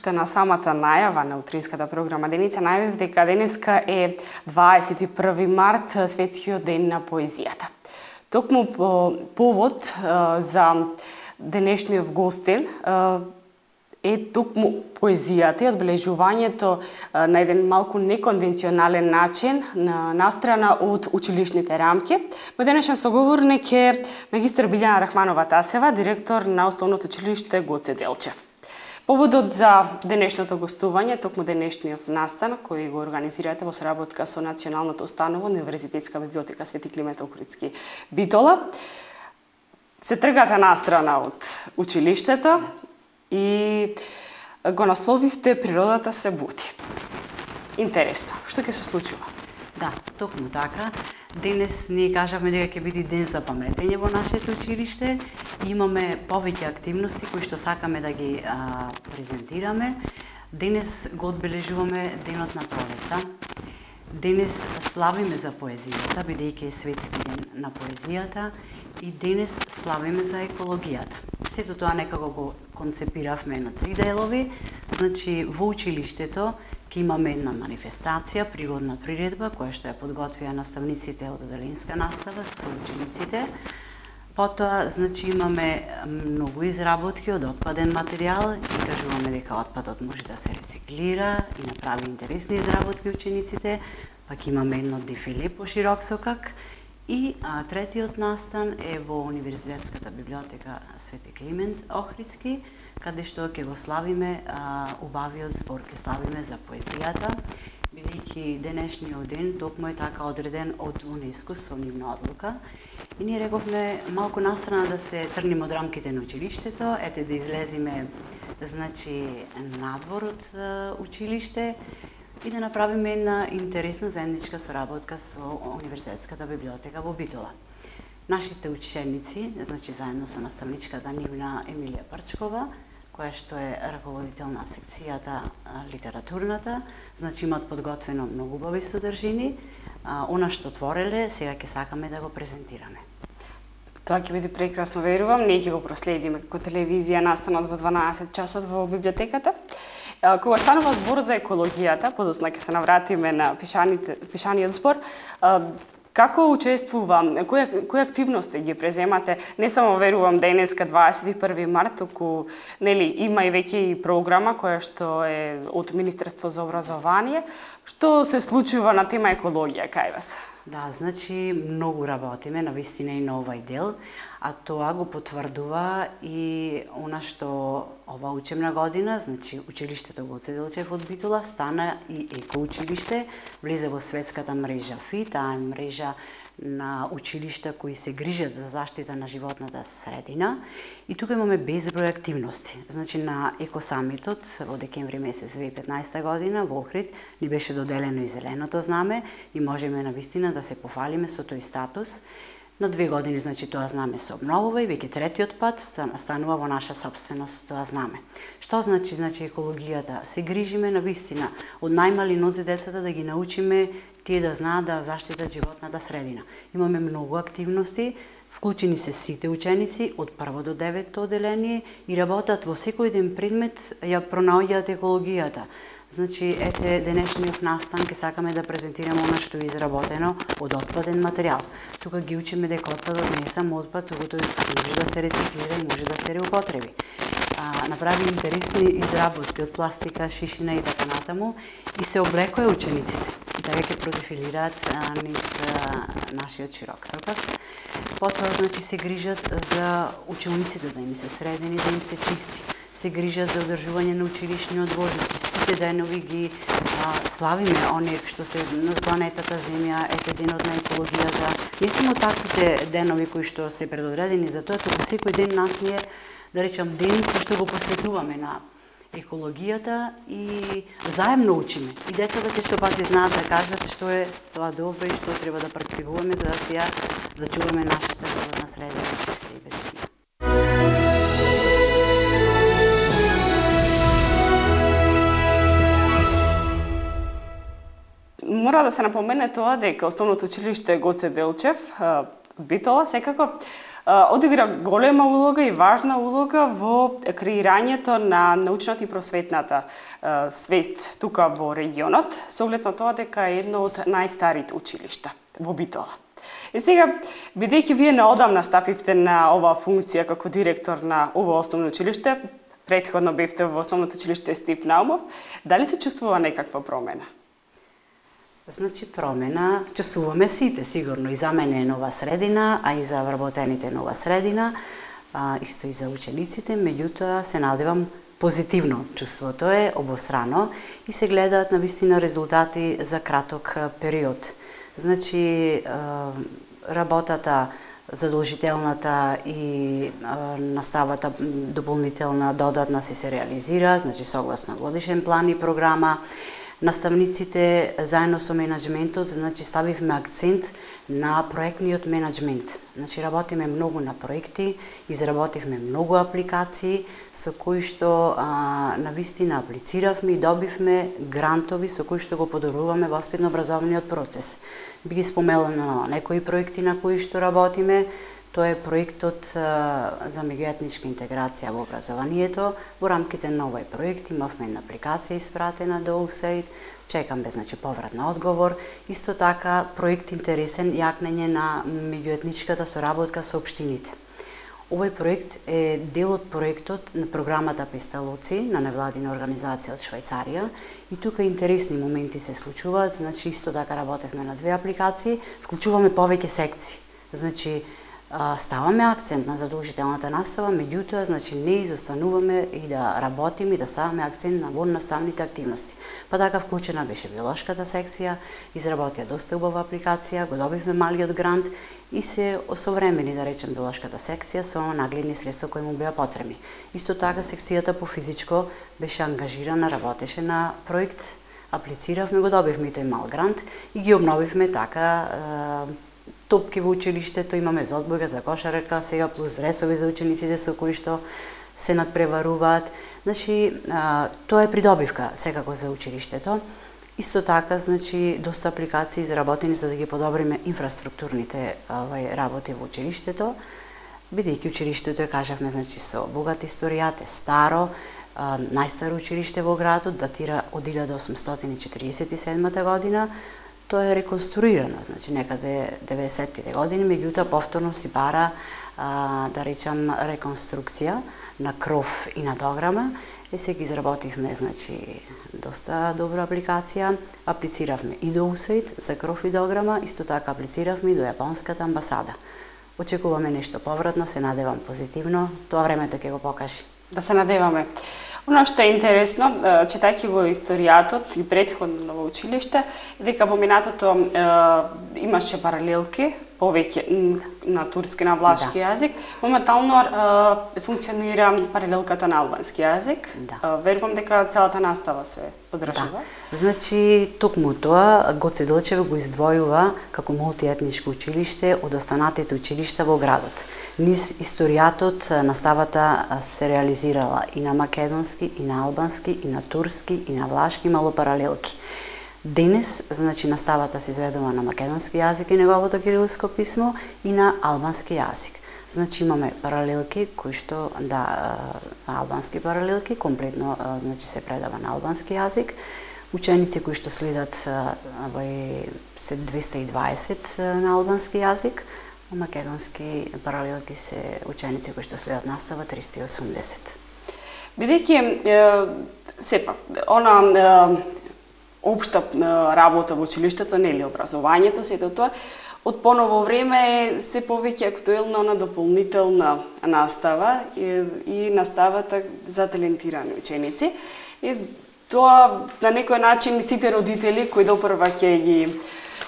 Уште на самата најава на утринската програма Деница најавив дека денеска е 21 март, светскиот ден на поезијата. Токму повод за денешниот гостин е токму поезијата и одбележувањето на еден малку неконвенционален начин настрана од училишните рамки. Мој денешен соговорник е магистар Билјана Рахманова-Тасева, директор на Основното училиште Гоце Делчев. Поводот за денешното гостување, токму денешниот настан, кој го организирате во соработка со Националното установа Универзитетска библиотека Свети Климент Охридски Битола, се тргате настрана од училиштето и го насловивте "Природата се буди". Интересно, што ќе се случува? Да, токму така. Денес ние кажавме дека ќе биде ден за паметење во нашето училиште. Имаме повеќе активности кои што сакаме да ги презентираме. Денес го одбележуваме денот на пролетта. Денес славиме за поезијата, бидејќи е светски ден на поезијата, и денес славиме за екологијата. Сето тоа некако го концепиравме на 3 делови. Значи, во училиштето ќе имаме една манифестација, пригодна приредба, која што ја подготвија наставниците од оделенска настава со учениците. Потоа, значи, имаме многу изработки од отпаден материјал и кажуваме дека отпадот може да се рециклира и направи интересни изработки учениците. Пак имаме едно дефиле по широк сокак. И третиот настан е во Универзитетската библиотека Свети Климент Охридски, каде што ќе го славиме убавиот збор, ќе славиме за поезијата, бидејќи денешниот ден токму е така одреден од УНЕСКО со нивна одлука. И ние рековме малку настрана да се тргнеме од рамките на училиштето, ете да излеземе, значи, надвор од училиште и да направиме една интересна заедничка соработка со Универзитетската библиотека во Битола. Нашите ученици, значи заедно со наставничката нивна Емилија Парчкова, која што е раководител на секцијата литературната, значи имаат подготвено многу убави содржини. Она што твореле, сега ќе сакаме да го презентираме. Тоа ќе биде прекрасно, верувам. Ние ќе го проследиме како телевизија настанот во 12 часот во библиотеката. Кога станува збор за екологијата, подосна ќе се навратиме на пишаниот збор, како учествува, кои активности ги преземате, не само верувам денеска 21 март, туку има и веќе програма која што е од Министерство за образование, што се случува на тема екологија кај вас? Да, значи многу работиме навистина и на овај дел, а тоа го потврдува и она што ова учебна година, значи училиштето Гоце Делчев од Битола стана и екоучилиште, влезе во светската мрежа ФИ, таа е мрежа на училишта кои се грижат за заштита на животната средина, и тука имаме безброј активности. Значи на екосамитот во декември месец 2015 година во Охрид ни беше доделено и зеленото знаме и можеме навистина да се пофалиме со тој статус. На 2 години, значи, тоа знаме се обновува и веќе третиот пат станува во наша собственост тоа знаме. Што значи? Значи, екологијата. Се грижиме навистина од најмали нозе децата да ги научиме тие да знаат да заштитат животната средина. Имаме многу активности, вклучени се сите ученици од 1 до 9 оделение и работат во секој ден предмет, ја пронаоѓаат екологијата. Значи, ете, денешниот настан ќе сакаме да презентираме она што е изработено од отпаден материјал. Тука ги учиме дека отпадот не е само отпад, туку тој може да се рециклира и може да се реупотреби. Направи интересни изработки од пластика, шишина и така натаму и се облекоја учениците. И така ќе продефилираат низ нашиот широк сокак. Потоа, значи, се грижат за учениците да им се средени, да им се чисти. Се грижат за одржување на училишниот двор, значи сите денови ги славиме оние што се на планетата Земја, ете денот на екологијата. Не само таквите денови кои што се предодредени за тоа, туку секој ден нас ние, да речам, ден кој што го посветуваме на екологијата и заедно учиме. И децата ќе што пати знаат да кажат што е тоа добро и што треба да практикуваме за да се ја зачуваме нашата животна средина чиста и безбедна. Мора да се напомене тоа дека Основното училиште Гоце Делчев од Битола секако одигра голема улога и важна улога во креирањето на научната и просветната свест тука во регионот, со оглед на тоа дека е едно од најстарите училишта во Битола. И сега, бидејќи вие неодамна стапивте на оваа функција како директор на ова основно училиште, претходно бевте во основното училиште Стив Наумов, дали се чувствува некаква промена? Значи, промена чувствуваме сите, сигурно. И за мене е нова средина, а и за вработените е нова средина, исто и за учениците, меѓутоа се надевам позитивно чувството е обосрано и се гледаат навистина резултати за краток период. Значи, работата задолжителната и наставата дополнителна додатна се реализира, значи согласно годишен план и програма. Наставниците заедно со менаџментот, значи ставивме акцент на проектниот менаџмент. Значи работиме многу на проекти, изработивме многу апликации со кои што навистина аплициравме и добивме грантови со кои што го подобруваме воспитно-образовниот процес. Би ги споменала некои проекти на кои што работиме. Тоа е проектот за меѓуетничка интеграција во образованието. Во рамките на овој проект имавме една апликација испратена до USAID. Чекаме, значи, поврат на одговор. Исто така, проект интересен јакнење на меѓуетничката соработка со општините. Овој проект е дел од проектот на програмата Песталоци на невладина организација од Швајцарија. И тука интересни моменти се случуваат. Значи, исто така работевме на две апликации. Вклучуваме повеќе секции. Значи, ставаме акцент на задолжителната настава, меѓутоа, значи, не изостануваме и да работиме и да ставаме акцент на наставните активности. Па така вклучена беше биолошката секција, изработија доста убава апликација, го добивме малиот грант и се осовремени, да речем, биолошката секција со нагледни средства кои му беа потребни. Исто така, секцијата по физичко беше ангажирана, работеше на проект, аплициравме, го добивме и тој мал грант и ги обновивме така топки во училиштето, имаме за одбора, за кошарка, сега плюс ресови за учениците со кои што се надпреваруваат. Значи, тоа е придобивка секако за училиштето. Исто така, значи, доста апликации изработени за да ги подобриме инфраструктурните работи во училиштето, бидејќи училиштето е, кажавме, значи, со богат историјат, е старо, најстаро училиште во градот, датира од 1847 година, тоа е реконструирано, значи некаде 90-тите години, меѓутоа повторно си бара, да речам, реконструкција на кров и на дограма. И сега изработивме, значи, доста добра апликација, аплициравме и до USAID за кров и дограма, исто така аплициравме и до Јапонската амбасада. Очекуваме нешто повратно, се надевам позитивно, тоа времето ќе го покажи. Да се надеваме. Оно што е интересно, читајќи во историјатот и претходно во училиште, дека во минатото имаше паралелки, повеќе на турски, на влашки јазик. Моментално функционира паралелката на албански јазик. Да. Верувам дека целата настава се одржува. Да. Значи, токму тоа Гоце Делчев го издвојува како мултиетничко училиште од останатите училишта во градот. Низ историјатот наставата се реализирала и на македонски, и на албански, и на турски, и на влашки, мало паралелки. Денес, значи, наставата се изведува на македонски јазик и неговото кирилско писмо и на албански јазик. Значи, имаме паралелки кои што, да, албански паралелки, комплетно, значи, се предава на албански јазик. Ученици кои што следат се 220 на албански јазик, а македонски паралелки се ученици кои што следат настава 380. Бидејќи сепак она општа работа во училиштето, нели образованието, сето тоа, од поново време е се повеќе актуелна на дополнителна настава и наставата за талентирани ученици. И тоа на некој начин сите родители кои допрва ќе ги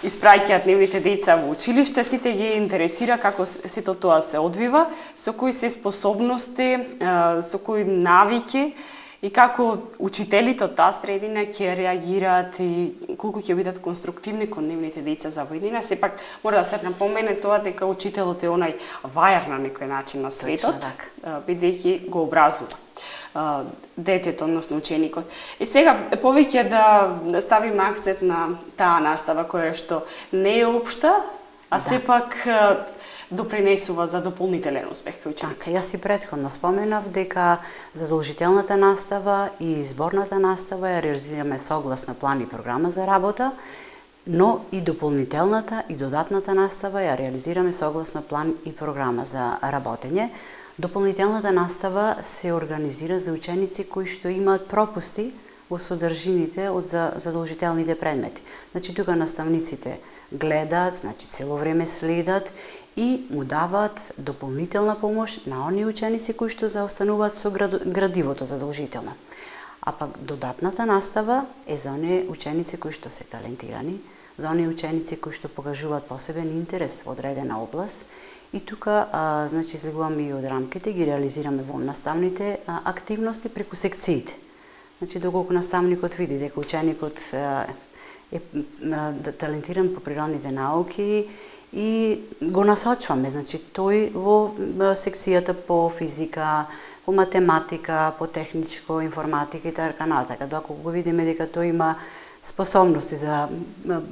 испраќаат нивните деца во училиште, сите ги интересира како сето тоа се одвива, со кои се способности, со кои навики и како учителите од таа средина ќе реагираат и колку ќе бидат конструктивни кон нивните деца за војнина. Сепак мора да се напомене тоа дека учителот е онај вајар на некој начин на светот, бидејќи го образува детето, односно ученикот. И сега повеќе да ставиме акцент на таа настава која што не е општа, а сепак допринесува за дополнителен успех кај учениците? Така, јас и претходно споменав дека задолжителната настава и изборната настава ја реализираме согласно план и програма за работа, но и дополнителната и додатната настава ја реализираме согласно план и програма за работење. Дополнителната настава се организира за ученици кои што имаат пропусти во содржините од задолжителните предмети. Значи, тука наставниците гледаат, значи цело време следат и му даваат дополнителна помош на оние ученици кои што заостануваат со градивото задолжително. А пак додатната настава е за оние ученици кои што се талентирани, за оние ученици кои што покажуваат посебен интерес во одредена област. И тука, значи, излегуваме и од рамките, ги реализираме во наставните активности преку секциите. Значи, доколку наставникот види дека ученикот е талентиран по природните науки и го насочваме, значи, тој во секцијата по физика, по математика, по техничко, информатика и така натака. Доколку го видиме дека тој има способности за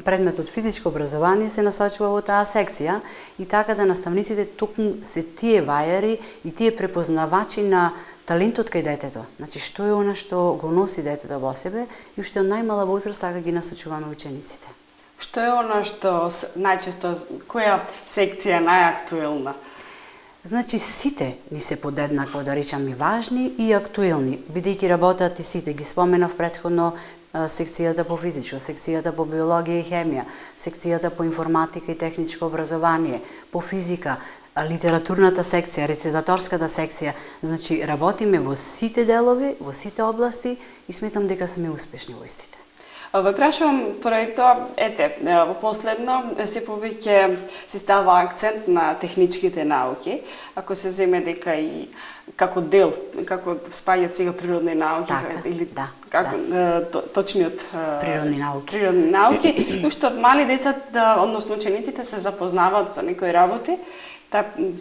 предметот физичко образование, се насочува во таа секција и така да наставниците токму се тие вајари и тие препознавачи на талентот кај детето. Значи, што е она што го носи детето во себе и уште од најмала возраст така ги насочуваме учениците. Што е она што најчесто, која секција е најактуелна? Значи, сите ни се подеднакво, да речам, и важни и актуелни, бидејќи работат и сите. Ги споменав претходно секцијата по физичко, секцијата по биологија и хемија, секцијата по информатика и техничко образование, по физика, литературната секција, рецитаторската секција. Значи, работиме во сите делови, во сите области и сметам дека сме успешни во истите. Ве прашувам поради тоа, во последно се повеќе се става акцент на техничките науки, ако се земе дека и како дел, како спаѓаат сега природни науки, така, или како точниот природни науки. Природни науки, уште од мали деца, односно учениците се запознаваат со некои работи,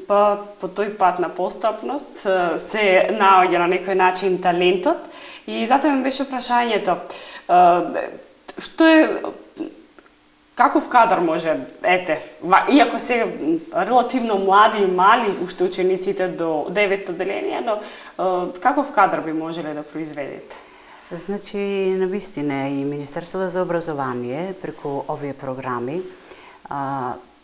по тој пат на постапност се наоѓа на некој начин талентот и затоа ми беше прашањето, што е, каков кадар може, иако се релативно млади и мали уште учениците до 9 одделение, но каков кадар би можеле да произведете? Значи, навистина и Министерството за образование преку овие програми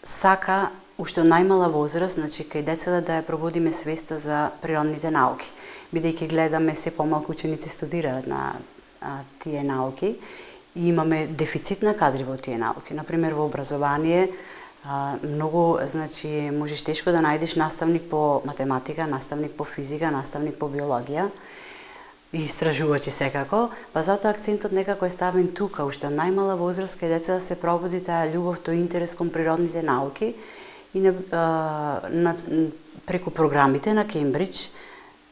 сака уште од најмала возраст, значи кај децата да ја пробудиме свеста за природните науки, бидејќи гледаме се помалку ученици студираат на тие науки и имаме дефицит на кадри во тие науки. Например, во образование многу, значи, можеш тешко да најдеш наставник по математика, наставник по физика, наставник по биологија и истражувачи секако, па затоа акцентот некако е ставен тука, уште од најмала возраст кај децата се пробуди таа љубов, тој интерес кон природните науки и преку програмите на Кембридж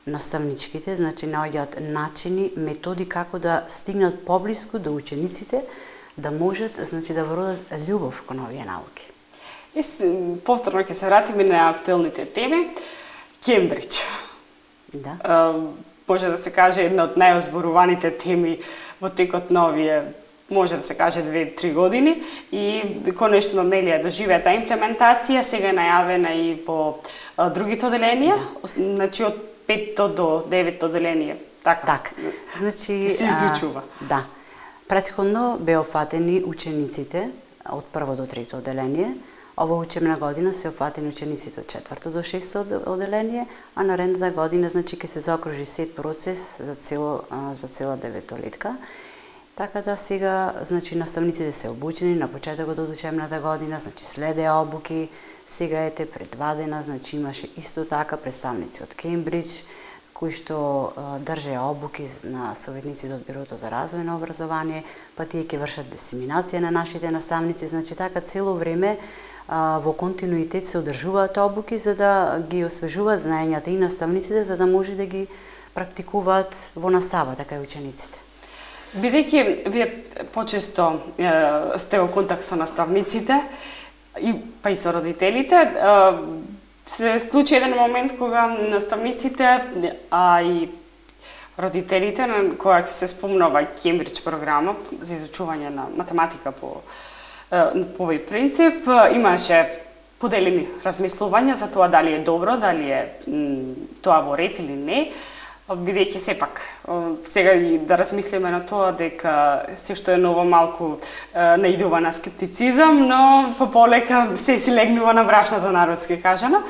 наставничките, значи наоѓаат начини, методи како да стигнат поблиску до учениците, да можат, значи, да вродат љубов кон овие науки. Повторно ќе се вратиме на актуелните теми. Кембридж. Да. Може да се каже една од најозборуваните теми во текот на овие, може да се каже 2-3 години и конечно нели ја доживеа таа имплементација, сега е најавена и по другите одделенија, значи од 5 до 9 одделение. Така. Значи се изучува. Да. Претходно беа опфатени учениците од 1 до 3 одделение. Ова учебна година се опфатени учениците од 4 до 6 одделение, а наредната година, значи, ќе се заокружи сет процес за цела 9-летка. Така да сега, значи, наставниците се обучени на почетокот од учебната година, значи следеа обуки. Сега пред 2 дена, значи, имаше исто така представници од Кембридж, кои што држеа обуки на советниците од Бирото за развој на образование, па тие ќе вршат дисеминација на нашите наставници, значи така цело време во континуитет се одржуваат обуки за да ги освежуваат знаењата и наставниците, за да може да ги практикуваат во настава, така и учениците. Бидејќи вие почесто сте во контакт со наставниците, па и со родителите, се случи еден момент кога наставниците, а и родителите, кога се спомнува Кембридж програма за изучување на математика по овој принцип, имаше поделени размислувања за тоа дали е добро, дали е тоа во ред или не, бидејќи сепак сега и да размислиме на тоа дека се што е ново малку наидува на скептицизам, но полека се си легнува на брашната, народски кажано.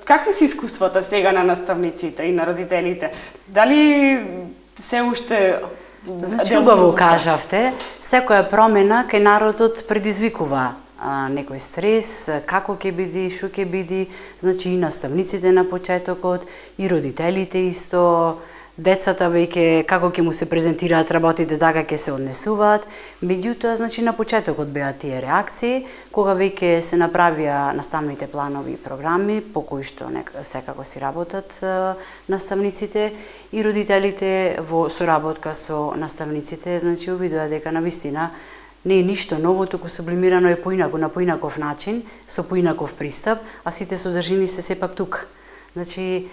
Какви се искуствата сега на наставниците и на родителите? Дали се уште... Значи, убаво кажавте, секоја промена кај народот предизвикува некој стрес, како ќе биде, што ќе биде, значи и наставниците на почетокот, и родителите исто, децата веќе како ќе му се презентираат работите, така ќе се однесуваат. Меѓутоа, значи на почетокот беа тие реакции, кога веќе се направија наставните планови и програми, по кои што секако си работат наставниците и родителите во соработка со наставниците, значи увидоа дека навистина не е ништо ново, туку сублимирано е поинаку, на поинаков начин, со поинаков пристап, а сите содржини се сепак тука. Значи,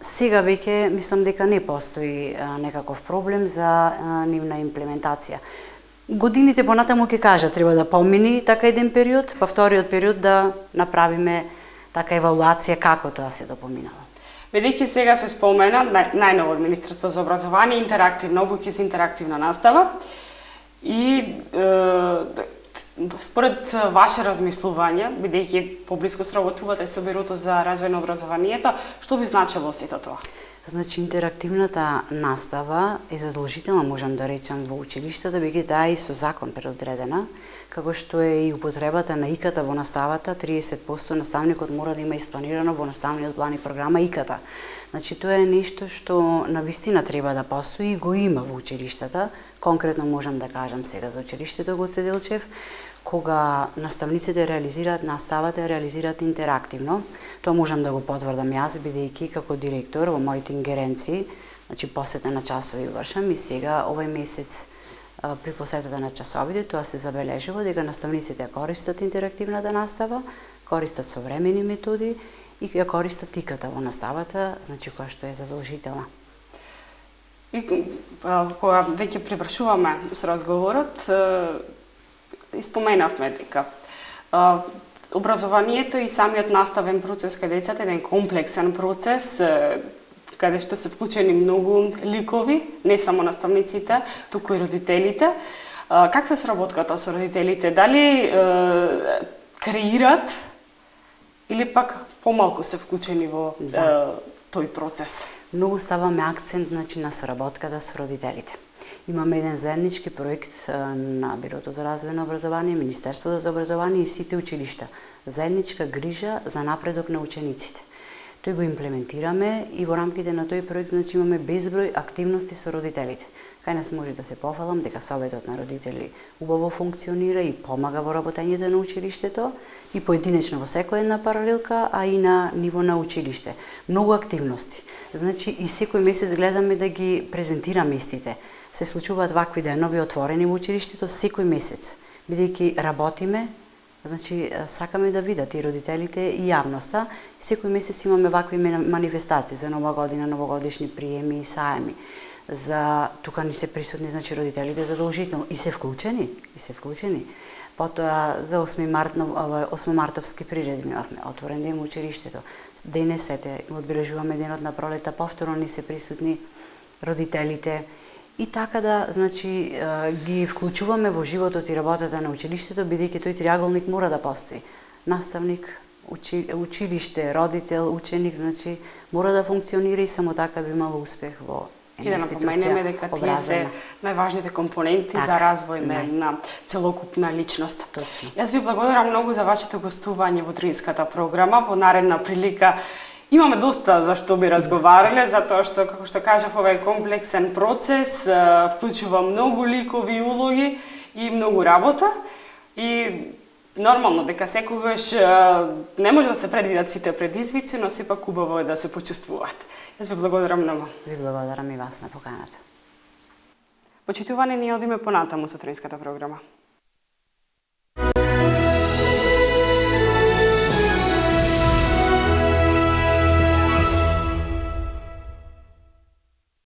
сега веќе мислам дека не постои некаков проблем за нивна имплементација. Годините понатаму ќе кажа, треба да помини така еден период, па вториот период да направиме така евалуација како тоа се допоминало. Бидејќи сега се спомена најново од Министерството за образование, интерактивна обука и интерактивна настава, и според ваше размислување, бидејќи поблиску сработувате со Бирото за развој на образованието, што би значило сето тоа? Значи, интерактивната настава е задолжителна, можам да речам, во училиштата, бидејќи таа и со закон предодредена, како што е и употребата на ИКТ во наставата, 30% наставникот мора да има испланирано во наставниот план и програма ИКТ. Значи, тоа е нешто што навистина треба да постои и го има во училиштата. Конкретно можам да кажам сега за училиштето Гоце Делчев, кога наставниците реализираат наставата, реализираат интерактивно. Тоа можам да го потврдам јас, бидејќи како директор во моите ингеренции, значи посета на часови вршам и сега овој месец при посетата на часовите тоа се забележува дека наставниците користат интерактивната настава, користат современи методи и ја користат ИКТ во наставата, значи која што е задолжителна. И кога веќе привршуваме со разговорот, испоменавме дека образованието и самиот наставен процес кај децата е еден комплексен процес, каде што се вклучени многу ликови, не само наставниците, туку и родителите. Каква е сработката со родителите? Дали креират или пак помалку се вклучени во тој процес? Многу ставаме акцент на соработката со родителите. Имаме еден заеднички проект на Бирото за развој на образование, Министерството за образование и сите училишта. Заедничка грижа за напредок на учениците. Тој го имплементираме и во рамките на тој проект имаме безброј активности со родителите. Кај нас може да се пофалам дека Советот на родители убаво функционира и помага во работењето на училиштето и поединечно во секоја една паралелка, а и на ниво на училиште. Многу активности. Значи и секој месец гледаме да ги презентираме истите. Се случуваат вакви денови отворени во училиштето секој месец, бидејќи работиме. Значи, сакаме да видат и родителите и јавноста. Секој месец имаме вакви манифестации за нова година, новогодишни приеми и саеми. За тука ни се присутни, значи родителите задолжително и се вклучени. Потоа за 8 мартовски приредби имавме отворен ден во училиштето. Денесете одбележуваме денот на пролета, повторно ни се присутни родителите. И така да, значи, ги вклучуваме во животот и работата на училиштето, бидејќи тој триаголник мора да постои. Наставник, училиште, родител, ученик, значи, мора да функционира и само така би имало успех во една институција. И да напоменеме дека тие се најважните компоненти за развој на целокупна личност. Точно. Јас ви благодарам многу за вашето гостување во Дринската програма. Во наредна прилика имаме доста за што би разговарале, затоа што, како што кажав, овој комплексен процес вклучува многу ликови улоги и многу работа. И нормално дека секогаш не може да се предвидат сите предизвици, но сепак убаво е да се почувствуваат. Јас ви благодарам многу. Ви благодарам и вас на поканата. Почитувани, ние одиме понатаму со Дринската програма.